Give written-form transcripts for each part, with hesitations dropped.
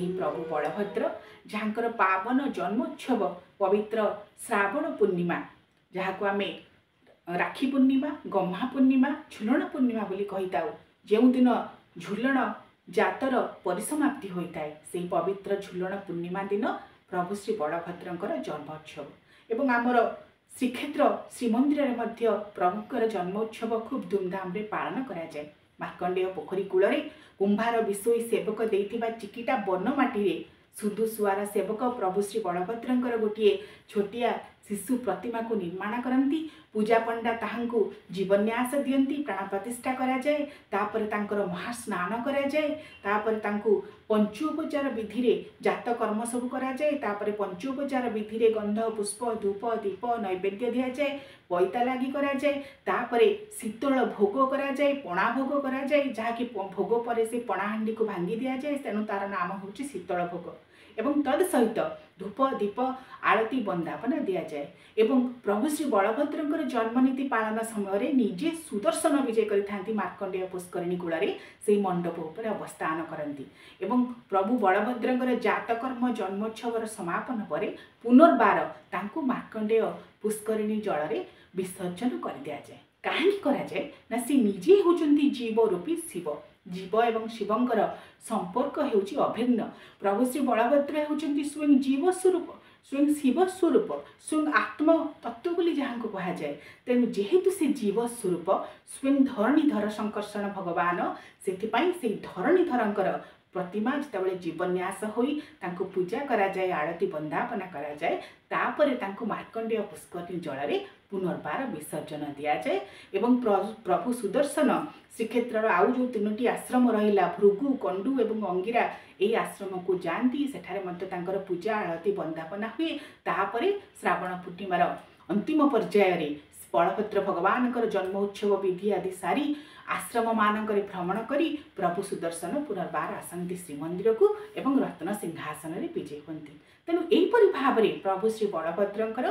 ସେହି ପ୍ରଭୁ ବଳଭଦ୍ର, ଯାହାଙ୍କର ପାବନ ଜନ୍ମୋତ୍ସବ ପବିତ୍ର ଶ୍ରାବଣ ପୂର୍ଣ୍ଣିମା, ଯାହାକୁ ଆମେ ରାକ୍ଷୀ ପୂର୍ଣ୍ଣିମା, ଗହ୍ମା ପୂର୍ଣ୍ଣିମା, ଝୁଲଣ ପୂର୍ଣ୍ଣିମା ବୋଲି କହିଥାଉ। ଯେଉଁଦିନ ଝୁଲଣ ଜାତର ପରିସମାପ୍ତି ହୋଇଥାଏ, ସେହି ପବିତ୍ର ଝୁଲଣ ପୂର୍ଣ୍ଣିମା ଦିନ ପ୍ରଭୁ ଶ୍ରୀ ବଳଭଦ୍ରଙ୍କର ଜନ୍ମୋତ୍ସବ। ଏବଂ ଆମର ଶ୍ରୀକ୍ଷେତ୍ର ଶ୍ରୀମନ୍ଦିରରେ ମଧ୍ୟ ପ୍ରଭୁଙ୍କର ଜନ୍ମୋତ୍ସବ ଖୁବ୍ ଧୁମଧାମରେ ପାଳନ କରାଯାଏ। ମାର୍କଣ୍ଡେୟ ପୋଖରୀ କୂଳରେ କୁମ୍ଭାର ବିଶୋଇ ସେବକ ଦେଇଥିବା ଚିକିଟା ବନ ମାଟିରେ ସୁଦୁସୁଆର ସେବକ ପ୍ରଭୁ ଶ୍ରୀ ବଳଭଦ୍ରଙ୍କର ଗୋଟିଏ ଛୋଟିଆ ଶିଶୁ ପ୍ରତିମାକୁ ନିର୍ମାଣ କରନ୍ତି। ପୂଜାପଣ୍ଡା ତାହାଙ୍କୁ ଜୀବନ୍ୟାସ ଦିଅନ୍ତି, ପ୍ରାଣ ପ୍ରତିଷ୍ଠା କରାଯାଏ। ତାପରେ ତାଙ୍କର ମହାସ୍ନାନ କରାଯାଏ। ତାପରେ ତାଙ୍କୁ ପଞ୍ଚୋପଚାର ବିଧିରେ ଜାତ କର୍ମ ସବୁ କରାଯାଏ। ତାପରେ ପଞ୍ଚୋପଚାର ବିଧିରେ ଗନ୍ଧ, ପୁଷ୍ପ, ଧୂପ, ଦୀପ, ନୈବେଦ୍ୟ ଦିଆଯାଏ, ପଇତା ଲାଗି କରାଯାଏ। ତାପରେ ଶୀତଳ ଭୋଗ କରାଯାଏ, ପଣା ଭୋଗ କରାଯାଏ, ଯାହାକି ଭୋଗ ପରେ ସେ ପଣାହାଣ୍ଡିକୁ ଭାଙ୍ଗି ଦିଆଯାଏ, ତେଣୁ ତାର ନାମ ହେଉଛି ଶୀତଳ ଭୋଗ। ଏବଂ ତଦ୍ ସହିତ ଧୂପ, ଦୀପ, ଆଳତି, ବନ୍ଦାପନା ଦିଆଯାଏ। ଏବଂ ପ୍ରଭୁ ଶ୍ରୀ ବଳଭଦ୍ରଙ୍କର ଜନ୍ମନୀତି ପାଳନ ସମୟରେ ନିଜେ ସୁଦର୍ଶନ ବିଜୟ କରିଥାନ୍ତି। ମାର୍କଣ୍ଡେୟ ପୁଷ୍କରିଣୀ କୂଳରେ ସେଇ ମଣ୍ଡପ ଉପରେ ଅବସ୍ଥାନ କରନ୍ତି। ଏବଂ ପ୍ରଭୁ ବଳଭଦ୍ରଙ୍କର ଜାତକର୍ମ ଜନ୍ମୋତ୍ସବର ସମାପନ ପରେ ପୁନର୍ବାର ତାଙ୍କୁ ମାର୍କଣ୍ଡେୟ ପୁଷ୍କରିଣୀ ଜଳରେ ବିସର୍ଜନ କରିଦିଆଯାଏ। କାହିଁକି କରାଯାଏ ନା, ସେ ନିଜେ ହେଉଛନ୍ତି ଜୀବ ରୂପୀ ଶିବ। ଜୀବ ଏବଂ ଶିବଙ୍କର ସମ୍ପର୍କ ହେଉଛି ଅଭିନ୍ନ। ପ୍ରଭୁ ଶ୍ରୀ ବଳଭଦ୍ର ହେଉଛନ୍ତି ସ୍ୱୟଂ ଜୀବ ସ୍ୱରୂପ, ସ୍ୱୟଂ ଶିବ ସ୍ୱରୂପ, ସ୍ୱୟଂ ଆତ୍ମ ତତ୍ତ୍ୱ ବୋଲି ଯାହାଙ୍କୁ କୁହାଯାଏ। ତେଣୁ ଯେହେତୁ ସେ ଜୀବ ସ୍ୱରୂପ, ସ୍ୱୟଂ ଧରଣୀଧର ଶଙ୍କର୍ଷଣ ଭଗବାନ, ସେଥିପାଇଁ ସେଇ ଧରଣୀଧରଙ୍କର ପ୍ରତିମା ଯେତେବେଳେ ଜୀବନ୍ୟାସ ହୋଇ ତାଙ୍କୁ ପୂଜା କରାଯାଏ, ଆଳତି ବନ୍ଦାପନା କରାଯାଏ, ତାପରେ ତାଙ୍କୁ ମାର୍କଣ୍ଡେୟ ପୁଷ୍କରିଣୀ ଜଳରେ ପୁନର୍ବାର ବିସର୍ଜନ ଦିଆଯାଏ। ଏବଂ ପ୍ରଭୁ ସୁଦର୍ଶନ ଶ୍ରୀକ୍ଷେତ୍ରର ଆଉ ଯେଉଁ ତିନୋଟି ଆଶ୍ରମ ରହିଲା, ଭୃଗୁ, କଣ୍ଡୁ ଏବଂ ଅଙ୍ଗିରା, ଏହି ଆଶ୍ରମକୁ ଯାଆନ୍ତି। ସେଠାରେ ମଧ୍ୟ ତାଙ୍କର ପୂଜା, ଆଳତି, ବନ୍ଦାପନା ହୁଏ। ତାପରେ ଶ୍ରାବଣ ପୂର୍ଣ୍ଣିମାର ଅନ୍ତିମ ପର୍ଯ୍ୟାୟରେ ବଳଭଦ୍ର ଭଗବାନଙ୍କର ଜନ୍ମ ଉତ୍ସବ ବିଧି ଆଦି ସାରି ଆଶ୍ରମମାନଙ୍କରେ ଭ୍ରମଣ କରି ପ୍ରଭୁ ସୁଦର୍ଶନ ପୁନର୍ବାର ଆସନ୍ତି ଶ୍ରୀମନ୍ଦିରକୁ ଏବଂ ରତ୍ନ ସିଂହାସନରେ ବିଜେ ହୁଅନ୍ତି। ତେଣୁ ଏହିପରି ଭାବରେ ପ୍ରଭୁ ଶ୍ରୀ ବଳଭଦ୍ରଙ୍କର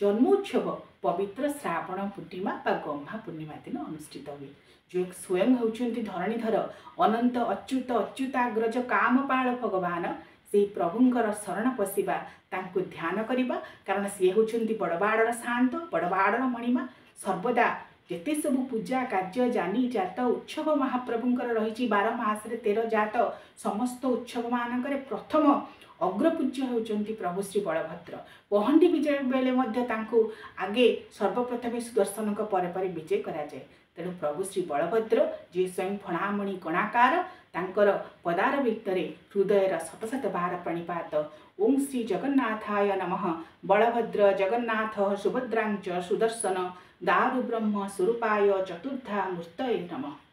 ଜନ୍ମୋତ୍ସବ ପବିତ୍ର ଶ୍ରାବଣ ପୂର୍ଣ୍ଣିମା ବା ଗହ୍ମା ପୂର୍ଣ୍ଣିମା ଦିନ ଅନୁଷ୍ଠିତ ହୁଏ। ଯେଉଁ ସ୍ୱୟଂ ହେଉଛନ୍ତି ଧରଣୀଧର, ଅନନ୍ତ ଅଚ୍ୟୁତ ଅଚ୍ୟୁତାଗ୍ରଜ କାମପାଳ ଭଗବାନ, ସେଇ ପ୍ରଭୁଙ୍କର ଶରଣ ପଶିବା, ତାଙ୍କୁ ଧ୍ୟାନ କରିବା, କାରଣ ସିଏ ହେଉଛନ୍ତି ବଡ଼ବାଡ଼ର ଶାନ୍ତ, ବଡ଼ବାଡ଼ର ମଣିମା। ସର୍ବଦା ଯେତେ ସବୁ ପୂଜା କାର୍ଯ୍ୟ, ଜାନି ଜାତ ଉତ୍ସବ ମହାପ୍ରଭୁଙ୍କର ରହିଛି, 12 ମାସରେ 13 ଜାତ, ସମସ୍ତ ଉତ୍ସବମାନଙ୍କରେ ପ୍ରଥମ ଅଗ୍ରପୂଜ୍ୟ ହେଉଛନ୍ତି ପ୍ରଭୁ ଶ୍ରୀ ବଳଭଦ୍ର। ପହଣ୍ଡି ବିଜୟ ବେଳେ ମଧ୍ୟ ତାଙ୍କୁ ଆଗେ ସର୍ବପ୍ରଥମେ ସୁଦର୍ଶନଙ୍କ ପରେ ପରେ ବିଜେ କରାଯାଏ। ତେଣୁ ପ୍ରଭୁ ଶ୍ରୀ ବଳଭଦ୍ର ଯିଏ ସ୍ୱୟଂ ଫଣାମଣି କଣାକାର, ତାଙ୍କର ପଦାର ଭିତରେ ହୃଦୟର ଶତ ଶତ ବାର ପ୍ରଣିପାତ। ଓಂ ଶ୍ରୀ ଜଗନ୍ନାଥାୟ ନମଃ। ବଳଭଦ୍ର ଜଗନ୍ନାଥ ସୁଭଦ୍ରାଞ୍ଚ ସୁଦର୍ଶନ ଦାରୁ ବ୍ରହ୍ମ ସ୍ୱରୂପାୟ ଚତୁର୍ଦ୍ଧା ମୂର୍ତ୍ତୟେ ନମଃ।